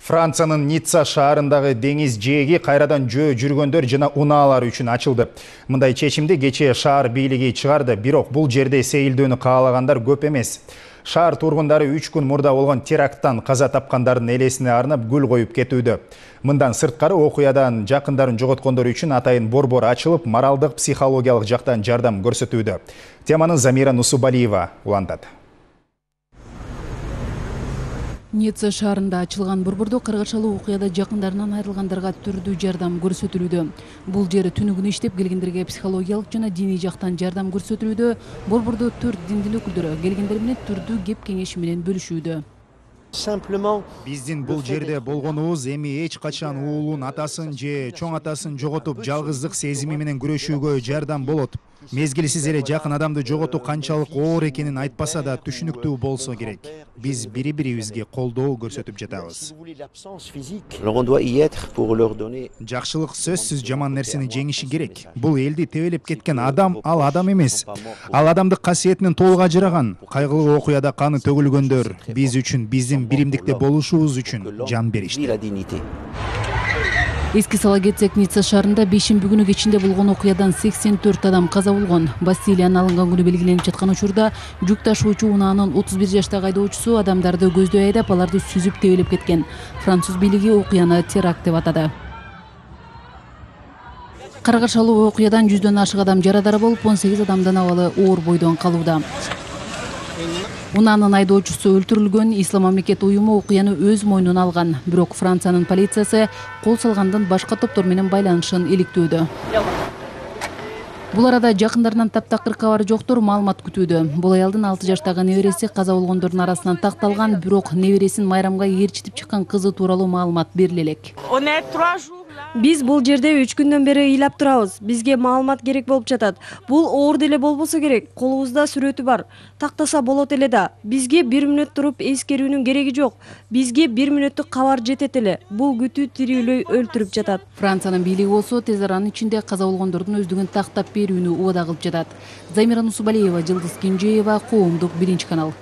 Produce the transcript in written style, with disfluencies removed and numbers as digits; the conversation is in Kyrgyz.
Франциянын Ницца шаарындагы деңиз жээги кайрадан жөө жүргөндөр жана унаалар үчүн ачылды. Мындай чечимди кечээ шаар бийлиги чыгарды, бирок бул жерде сейилдөөнү каалагандар көп эмес. Шаар тургундары 3 күн мурда болгон теракттан каза тапкандардын элесине арнап гүл коюп кетүүдө. Мындан сырткары окуядан жакындарын жоготкондор үчүн атайын борбор ачылып, моралдык, психологиялык жактан жардам көрсөтүүдө. Теманы Замира Нусубалиева улантат. Ницца шаарында ачылган борбордо каргашалуу окуяда жакындарынан айрылгандарга түрдүү жардам көрсөтүлүүдө. Бул жер түнүгүн иштеп келгендерге психологиялык жана диний жактан жардам көрсөтүлүүдө. Борбордо 4 диндин өкүлдөрү келгендер менен түрдүү кеп кеңеш менен бөлүшүүдө. Биздин бул жерде болгонубуз эми эч качан уулун, атасын же чоң атасын жоготуп, жалгыздык сезими менен күрөшүүгө жардам болот. Мезгилсиз эле жакын адамды жоготуу канчалык оор экенин айтпаса да түшүнүктүү болсо керек. Биз бири-бирибизге колдоо көрсөтүп жатабыз. Жакшылык сөзсүз жаман нерсени жеңиши керек. Бул элди тебелеп кеткен адам, ал адам эмес. Ал адамдык касиетинен толук ажыраган. Кайгылуу окуяда каны төгүлгөндөр биз үчүн, биздин биримдикте болушубуз үчүн жан беришти. Эске сала кетсек, Ницца шаарында бейшемби күнү кечинде болгон окуядан 84 адам каза болгон. Бастилиянын алынган күнү белгиленип жаткан учурда жүк ташуучу унаанын 31 жаштагы айдоочусу адамдарды көздөй айдап, аларды сүзүп тебелеп кеткен. Француз бийлиги окуяны теракт деп атады. Каргашалуу окуядан 100дөн ашык адам жарадар болуп, 18 адамдын абалы оор бойдон калууда. Унаанын айдоочусу өлтүрүлгөн. Ислам мамлекет уюму окуяны өз мойнуна алган. Бирок Франциянын полициясы кол салгандын башка топтор менен байланышын иликтөөдө. Бул арада жакындарынан таптакыр кабар жоктор маалымат күтүүдө. Бул аялдын 6 жаштагы небереси каза болгондордун арасынан такталган, бирок небересин майрамга ээрчитип чыккан кызы тууралуу маалымат бериле элек. Биз бул жерде 3 күндөн бери ыйлап турабыз. Бизге маалымат керек болуп жатат. Бул оор деле болбосо керек. Колубузда сүрөтү бар. Тактаса болот эле да. Бизге 1 мүнөт туруп эскерүүнүн кереги жок. Бизге 1 мүнөттүк кабар жетет эле. Бул күтүү тирүүлөй өлтүрүп жатат. Франциянын бийлиги болсо тез аранын ичинде каза болгондордун өздүгүн тактап берүүнү убада кылып жатат. Замира Нусубалиева, Жылдыз Кенжеева, Коомдук, 1 канал.